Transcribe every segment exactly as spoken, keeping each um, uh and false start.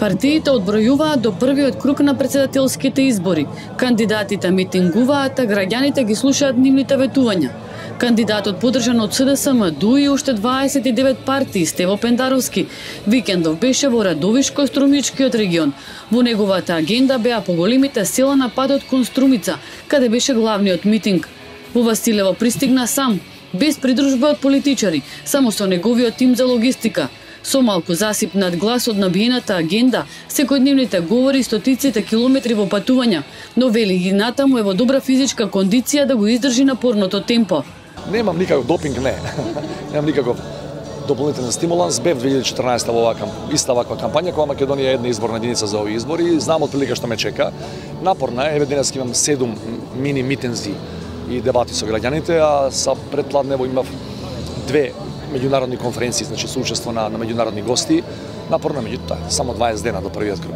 Партиите одбројуваат до првиот круг на претседателските избори. Кандидатите митингуваат, а граѓаните ги слушаат нивните ветувања. Кандидатот поддржан од СДСМ, ДУ и уште дваесет и девет партии, Стево Пендаровски, викендов беше во Радовишко-Струмичкиот регион. Во неговата агенда беа поголемите села на патот кон Струмица, каде беше главниот митинг. Во Василево пристигна сам, без придружба од политичари, само со неговиот тим за логистика. Со малку засип над глас од набиената агенда, секојдневните говори стотиците километри во патувања, но вели и натаму е во добра физичка кондиција да го издржи напорното темпо. Немам никаков допинг, не. Немам никаков дополнителен стимуланс. Бев две илјади и четрнаесета во оваа иста ваква кампања, кога Македонија е една изборна единица за овие избори. Знам отприлика што ме чека. Напорна е, еве денес имам седум мини митинзи и дебати со граѓаните, а са предпладнево имав две меѓународни конференции, значи со учество на, на меѓународни гости. Напорно, меѓутоа, само дваесет дена до првиот круг.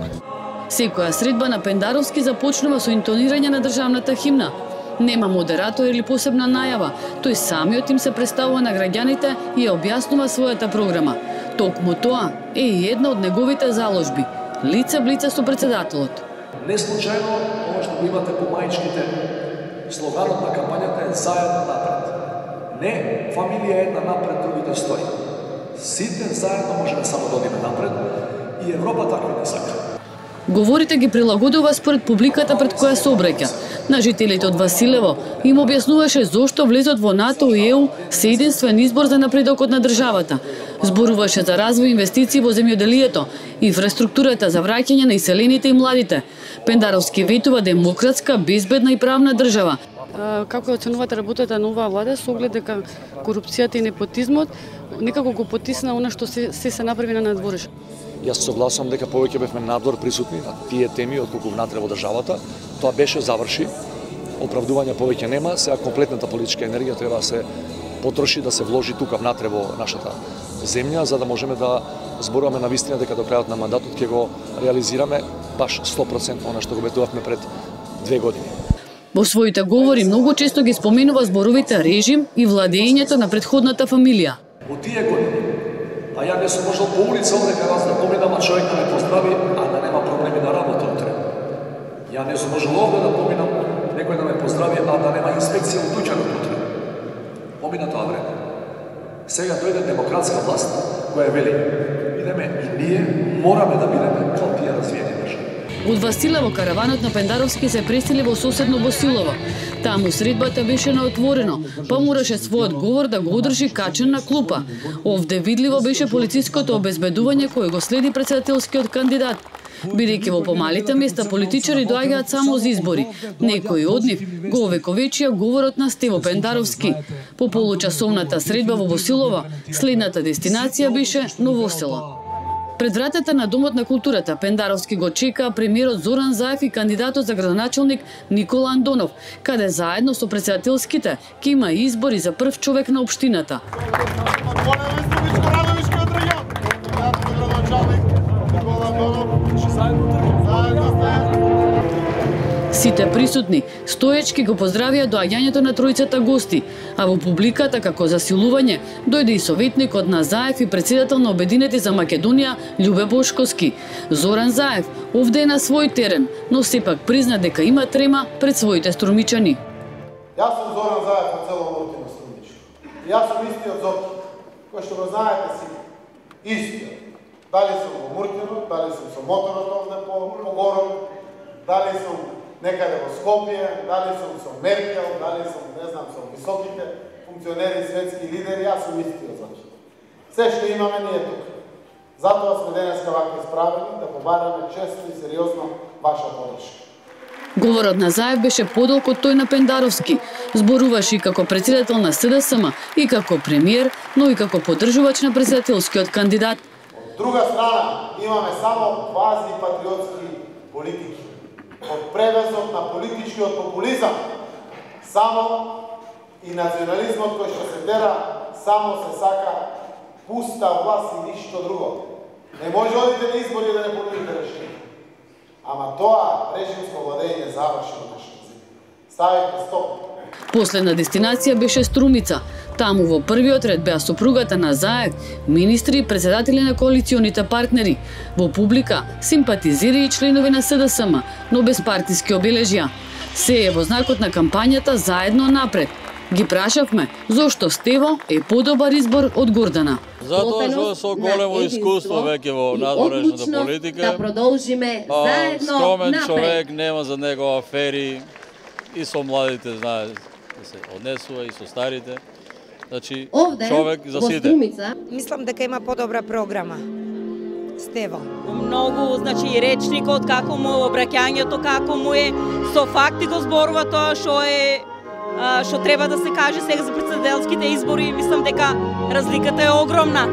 Секоја средба на Пендаровски започнува со интонирање на државната химна. Нема модератор или посебна најава, тој самиот им се представува на граѓаните и ја објаснува својата програма. Токму тоа е и една од неговите заложби – лице в лице со председателот. Не случајно, ова што го имате по мајчките, слоганот на кампањата е заедно напред. Не, фамилија една напред, другите стои. Сите заедно можеме само да одиме напред и Европа такви не сака. Говорите ги прилагодува според публиката пред која се обраќа. На жителите од Василево им објаснуваше зошто влезот во НАТО и ЕУ се единствен избор за напредокот на државата. Зборуваше за развој инвестиции во земјоделието, инфраструктурата за враќање на иселените и младите. Пендаровски ветува демократска, безбедна и правна држава. Како оценувате работата на оваа влада со оглед дека корупцијата и непотизмот некако го потисна она што се се, се направи на надвореш? Јас согласувам дека повеќе бевме надвор присутни на тие теми отколку внатре во државата. Тоа беше, заврши. Оправдување повеќе нема, сега комплетната политичка енергија треба да се потроши, да се вложи тука внатре во нашата земја, за да можеме да зборуваме на вистина дека до крајот на мандатот ќе го реализираме баш сто проценти она што го ветувавме пред две години. Во своите говори многу често ги споменува зборовите режим и владењето на претходната фамилија. Во тие години, а ја не сум можел по улица овде кај вас да поминам, а човек да ме поздрави, а да нема проблеми на работа утре. Ја не сум можел овде да поминам, некој да ме поздрави, а да нема инспекција во дуќанот утре. Помина тоа време. Сега дојде демократска власт, која вели, идеме и ние мораме да бидеме као тие развиени држави. Од Василево караванот на Пендаровски се пресели во соседно Босилово. Таму средбата беше на отворено, па мораше својот говор да го одржи качен на клупа. Овде видливо беше полициското обезбедување кој го следи председателскиот кандидат. Бидејќи во помалите места политичари доаѓаат само за избори. Некои од нив го овековечија говорот на Стево Пендаровски. По получасовната средба во Босилово, следната дестинација беше Новосело. Пред вратата на Домот на културата Пендаровски го чека премиерот Зоран Заев и кандидатот за градоначалник Никола Андонов, каде заедно со председателските ќе има избори за прв човек на општината. Сите присутни стоечки го поздравија доаѓањето на тројцата гости, а во публиката како засилување дојде и советникот на Заев и председател на Обединети за Македонија Љубе Бошковски. Зоран Заев овде е на свој терен, но сепак призна дека има трема пред своите струмичани. Јас сум Зоран Заев од село Муртино, Струмичко. Јас сум истиот Зорче, кој што го знаете си, истиот. Дали сум во Муртино, дали сум со моторот овде по, по город, дали сум некаде во Скопје, дали сум со Меркел, дали сум, не знам, со високите функционери, светски лидери, јас сум истиот Зорче. Се што имаме ние тука. Затоа сме денеска вака исправени да побараме честно и сериозно ваша подршка. Говорот на Заев беше подолг од тој на Пендаровски. Зборуваше и како председател на СДСМ, и како премиер, но и како поддржувач на председателскиот кандидат. Од друга страна, имаме само квази патриотски политики. Од превезот на политичкиот популизам, само и национализмот кој што се тера, само се сака пуста власт и ништо друго. Не може одите на избори да не понудите решение. Ама тоа режимско владење заврши во нашата земја. Ставите стоп. Последна дестинација беше Струмица. Таму во првиот ред беа сопругата на Заев, министри и председатели на коалиционите партнери. Во публика симпатизери и членови на С Д С М, но без партиски обележја. Се е во знакот на кампањата Заедно напред. Ги прашавме зошто Стево е подобар избор од Гордана. Затоа што со големо искуство веќе во надворешната политика. Да продолжиме заедно скромен напред. човек, нема за него афери и со младите знае да се однесува и со старите. Значи Овде, човек за во сите. Струмица, Мислам дека има подобра програма. Стево. Многу, значи, речникот, како му е обраќањето, како му е, со факти го зборува тоа што е, а, што треба да се каже сега за председателските избори. Мислам дека разликата е огромна.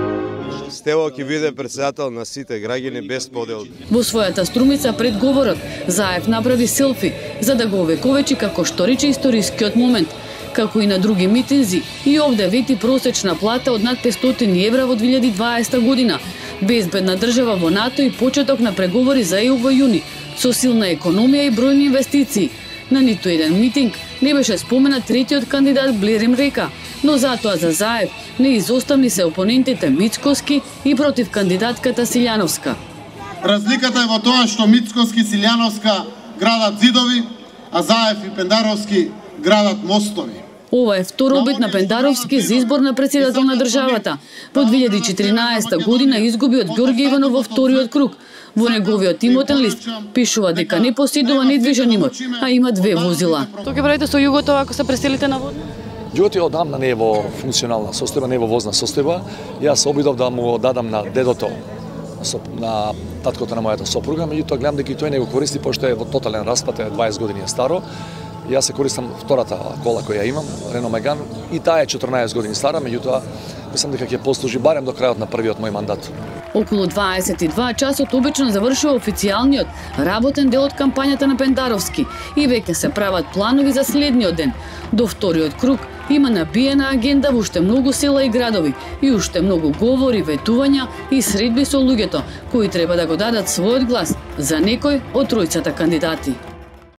Стево ќе биде председател на сите граѓани без подел. Во својата Струмица пред говорот, Заев направи селфи за да го овековечи како што рече историскиот момент. Како и на други митинзи, и овде вети просечна плата од над петстотини евра во две илјади и дваесета година, безбедна држава во НАТО и почеток на преговори за Е У во јуни, со силна економија и бројни инвестиции. На ниту еден митинг не беше споменат третиот кандидат Блерим Река, но затоа за Заев не изоставни се опонентите Мицкоски и против кандидатката Силјановска. Разликата е во тоа што Мицкоски и Силјановска градат зидови, а Заев и Пендаровски градат мостови. Ова е втор обид на Пендаровски за избор на председател на државата. Во две илјади и четиринаесета година изгуби од Ѓорѓе Иванов во вториот круг. Во неговиот имотен лист пишува дека не поседува недвижен имот, а има две возила. Тоа ќе правите со југото ако се преселите на водно? Југот е одамна не е во функционална состојба, не е во возна состојба. Јас се обидов да му дадам на дедото, на таткото на мојата сопруга, меѓутоа гледам дека и тој не го користи, пошто е во тотален распад, е дваесет години е старо. Јас се користам втората кола која имам, Рено Меган, и таа е четрнаесет години стара, меѓутоа мислам дека ќе послужи барем до крајот на првиот мој мандат. Околу дваесет и два часот обично завршува официјалниот работен дел од кампањата на Пендаровски и веќе се прават планови за следниот ден. До вториот круг има набиена агенда во уште многу села и градови и уште многу говори, ветувања и средби со луѓето кои треба да го дадат својот глас за некој од тројцата кандидати.